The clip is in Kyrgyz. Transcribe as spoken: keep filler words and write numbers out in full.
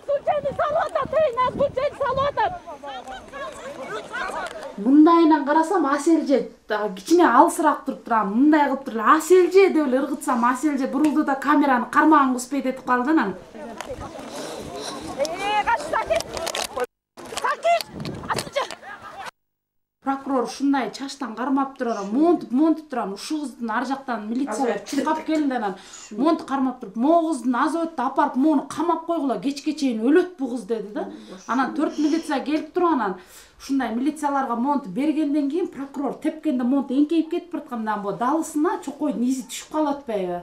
случайно салып атат, эй, нас случайно салып атат. Мындайынан карасам Аселже кичине алысыраак туруп турам. Мындай кылып туруп Аселже деп эле ыргытсам, Аселже бурулду да камераны кармагын куспайт этип калды анан. Э, кач сакит. Сакит. Атча. Прокурор ушундай чачтан кармап туруп, монтуп монтуп турам. Ушул кыздын ар жактан милиция чуркап келди анан. Монтуп кармап туруп, могу кыздын азойту апарып, мону камап койгула, кечке чейин өлөт бу кыз деди да. Анан төрт милиция келип туруп анан ушундай милицияларга монту бергенден кийин прокурор тепкенде монту эңкейип кетип бараткан, мына бу далысына чокойдун изи түшүп калып атпайбы?